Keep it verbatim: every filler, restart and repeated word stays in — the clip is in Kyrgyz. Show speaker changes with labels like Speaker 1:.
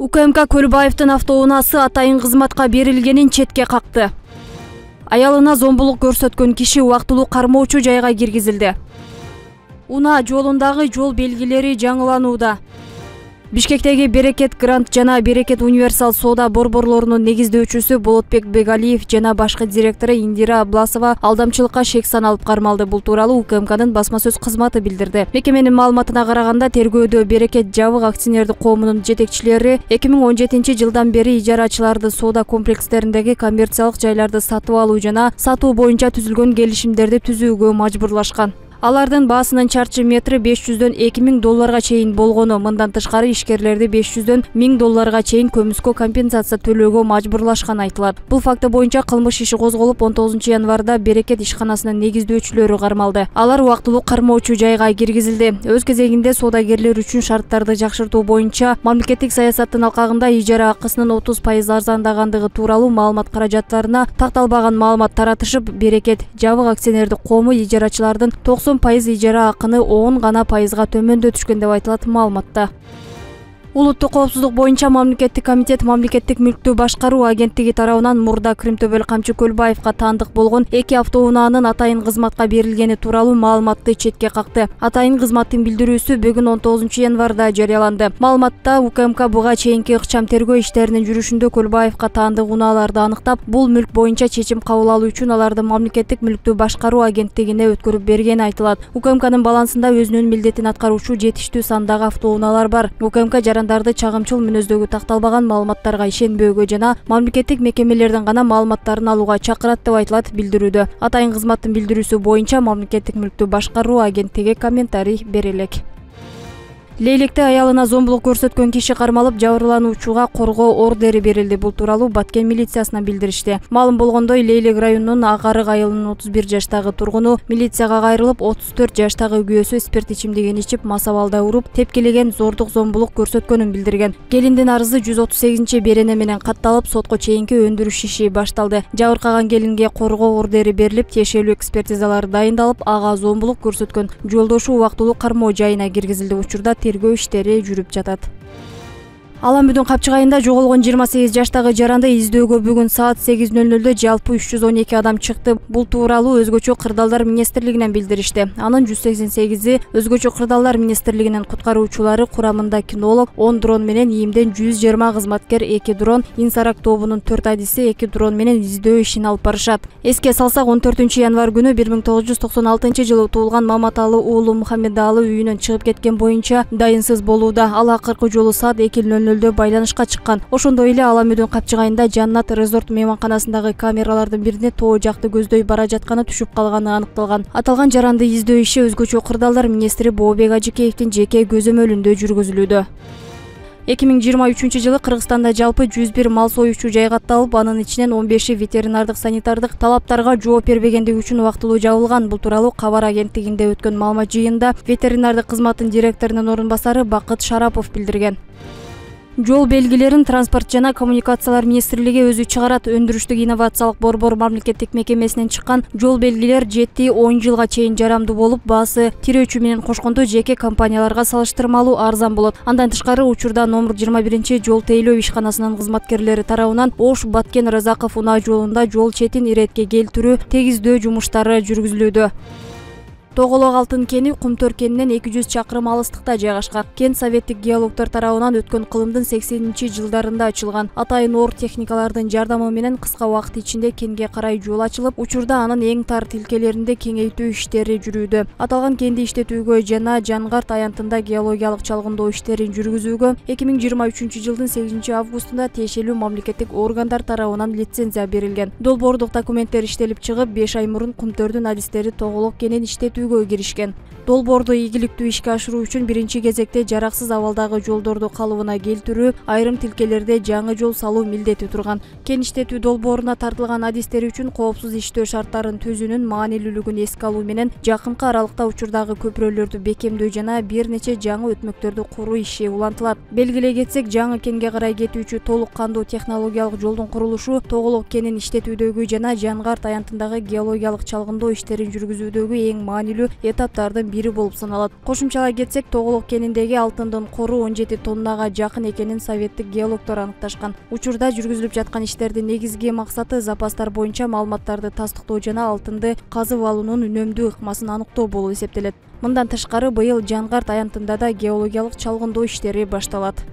Speaker 1: УКМК Көлбаевдин автоунаасы атайын кызматка берилгенин четке какты. Аялына зомбулук көрсөткөн киши убактылуу кармоочу жайга киргизилди. Унаа жолундагы жол белгилери жаңыланууда. Бишкектеги Берекет Грант жана Берекет Универсал соода борборлорунун негиздөөчүсү Болотбек Бегалиев жана башкы директору Индира Абласова алдамчылыкка шек саналып кармалды. Бул тууралуу УКМКнын басма сөз кызматы билдирди. Мекеменин маалыматына караганда, тергөөдө Берекет жабык акционердик коомунун жетекчилери эки миң он жетинчи жылдан бери ижарачыларды соода комплекстериндеги коммерциялык жайларды сатып алуу жана сатуу боюнча түзүлгөн келишимдерди түзүүгө мажбурлашкан. Алардын баасынын чарчы метри беш жүздөн эки миң долларга чейин болгону, мындан тышкары ишкерлерди беш жүздөн миң долларга чейин көмүскө компенсация төлөөгө мажбурлашкан айтылат. Бул факты боюнча кылмыш иши козголуп, он тогузунчу январда Берекет ишканасынын негиздөөчүлөрү кармалды. Алар убактылуу кармоочу жайга киргизилди. Өз кезегинде соодагерлер үчүн шарттарды жакшыртуу боюнча мамлекеттик саясаттын алкагында ижара акысынын отуз пайыз арзандагандыгы тууралуу маалымат каражаттарына такталбаган маалымат таратышып, Берекет жабык акционердик коому ижарачылардын токсон пайыз ижара акыны он гана пайызга төмөндөтүшкөн деп айтылат маалыматта. Улуттук коопсуздук боюнча мамлекеттик комитет мамлекеттик мүлктү башкаруу агенттиги тарабынан мурда Крымтөбөл Камчы Көлбаевга таандык болгон эки автоунаанын атайын кызматка берилгени тууралуу маалыматты четке какты. Атайын кызматтын билдирүүсү бүгүн он тогузунчу январда жарыяланды. Маалыматта УКМК буга чейинки ыкчам тергөө иштеринин жүрүшүндө Көлбаевга таандык унааларды аныктап, бул мүлк боюнча чечим кабыл алуу үчүн аларды мамлекеттик мүлктү башкаруу агенттигине өткөрүп бергени айтылат. УКМКнын балансында өзүнүн милдетин аткаруучу жетиштүү сандагы автоунаалар бар. УКМК жарандарды чагымчыл мүнөздөгү такталбаган маалыматтарга ишенбөөгө жана мамлекеттик мекемелерден гана маалыматтарын алууга чакырат деп айтылат билдирүүдө. Атайын кызматтын билдирүүсү боюнча мамлекеттик мүлктү башкаруу агенттиги комментарий бере элек. Лейликте аялына зомбулук көрсөткөн киши кармалып, жабырлануучуга коргоо ордери берилди. Бул тууралуу Баткен милициясына билдиришти. Маалым болгондой, Лейлик районунун Агарык айылынын отуз бир жаштагы тургуну милицияга кайрылып, отуз төрт жаштагы күйөөсү спирт ичимдигин ичип, мас абалда уруп, тепкилеген, зордук зомбулук көрсөткөнүн билдирген. Келиндин арызы жүз отуз сегизинчи берене менен катталып, сотко чейинки өндүрүш иши башталды. Жабыркаган келинге коргоо ордери берилип, тиешелүү экспертизалар дайындалып, ага зомбулук көрсөткөн жолдошу убактылуу кармоо жайына киргизилди. Учурда тергөө иштери жүрүп жатат. Аламүдүн Капчыгайында жоголгон жыйырма сегиз жаштагы жаранды издөөгө бүгүн саат сегиз нөл нөлдө жалпы үч жүз он эки адам чыкты. Бул тууралуу өзгөчө кырдаалдар министрлигинен билдиришти. Анын жүз сексен сегизи өзгөчө кырдаалдар министрлигинин куткаруучулары курамында кинолог, он дрон менен ийимден жүз жыйырма кызматкер, эки дрон, Инсарак тобунун төрт адиси эки дрон менен издөө ишин алып барышат. Эске салсак, он төртүнчү январ күнү бир миң тогуз жүз токсон алтынчы жылы туулган Маматалы уулу Мухаммедалы үйүнөн чыгып кеткен боюнча дайынсыз болууда. Ал акыркы жолу саат эки нөл нөлдө байланышка чыккан. Ошондой эле Аламүдүн Капчыгайында Жаннат резорт мейманканасындагы камералардын бирине тоо жакты көздөй бара жатканы түшүп калганы аныкталган. Аталган жаранды издөө иши өзгөчө кырдаалдар министри Бообек Ажыкеевдин жеке көзөмөлүндө жүргүзүлүүдө. эки миң жыйырма үчүнчү жылы Кыргызстанда жалпы жүз бир мал союучу жай катталып, анын ичинен он беши ветеринардык санитардык талаптарга жооп бербегендиги үчүн убактылуу жабылган. Бул тууралуу Кабар агенттигинде өткөн маалымат жыйынында ветеринардык кызматтын директорунун орун басары Бакыт Шарапов билдирген. Жол белгилерин Транспорт жана коммуникациялар министрлиги өзү чыгарат. Өндүрүштүк инновациялык борбор мамлекеттик мекемесинен чыккан жол белгилер жети он жылга чейин жарамдуу болуп, баасы тирөөчү менен кошкондо жеке компанияларга салыштырмалуу арзан болот. Андан тышкары, учурда номер жыйырма биринчи жол тейлөө ишканасынын кызматкерлери тарабынан Ош Баткен Разаков унаа жолунда жол четин иретке келтирүү, тегиздөө жумуштары жүргүзүлүүдө. Тоголок алтын кени Кумтөр кенинен эки жүз чакырым алыстыкта жайгашкан. Кен советтик геологдор тарабынан өткөн кылымдын сексенинчи жылдарында ачылган. Атайын оор техникалардын жардамы менен кыска убакыт ичинде кенге карай жол ачылып, учурда анын эң тар тилкелеринде кеңейтүү иштери жүрүүдө. Аталган кенди иштетүүгө жана Жангарт аянтында геологиялык чалгындоо иштерин жүргүзүүгө эки миң жыйырма үчүнчү жылдын сегизинчи августунда тиешелүү мамлекеттик органдар тарабынан лицензия берилген. Долбоордук документтер иштелип чыгып, беш ай мурун Кумтөрдүн адистери Тоголок кенин иштетүү киришкен. Долбоорду ийгиликтүү ишке ашыруу үчүн биринчи кезекте жараксыз абалдагы жолдорду калыбына келтирүү, айрым тилкелерде жаңы жол салуу милдети турган. Кен иштетүү долбооруна тартылган адистер үчүн коопсуз иштөө шарттарын түзүүнүн маанилүүлүгүн эске алуу менен жакынкы аралыкта учурдагы көпүрөлөрдү бекемдөө жана бир нече жаңы өтмөктөрдү куруу иши улантылат. Белгилей кетсек, жаңы кенге карай кетүүчү толук кандуу технологиялык жолдун курулушу Тоголок кенин иштетүүдөгү жана Жангарт аянтындагы геологиялык чалгындоо иштерин жүргүзүүдөгү эң маанилүү белгилүү этаптардын бири болуп саналат. Кошумчалай кетсек, Тоголок кениндеги алтындын кору он жети тоннага жакын экенин советтик геологдор аныкташкан. Учурда жүргүзүлүп жаткан иштердин негизги максаты запастар боюнча маалыматтарды тастыктоо жана алтынды казып алуунун үнөмдүү ыкмасын аныктоо болуп эсептелет. Мындан тышкары, быйыл Жаңгарт аянтында да геологиялык чалгындоо иштери башталат.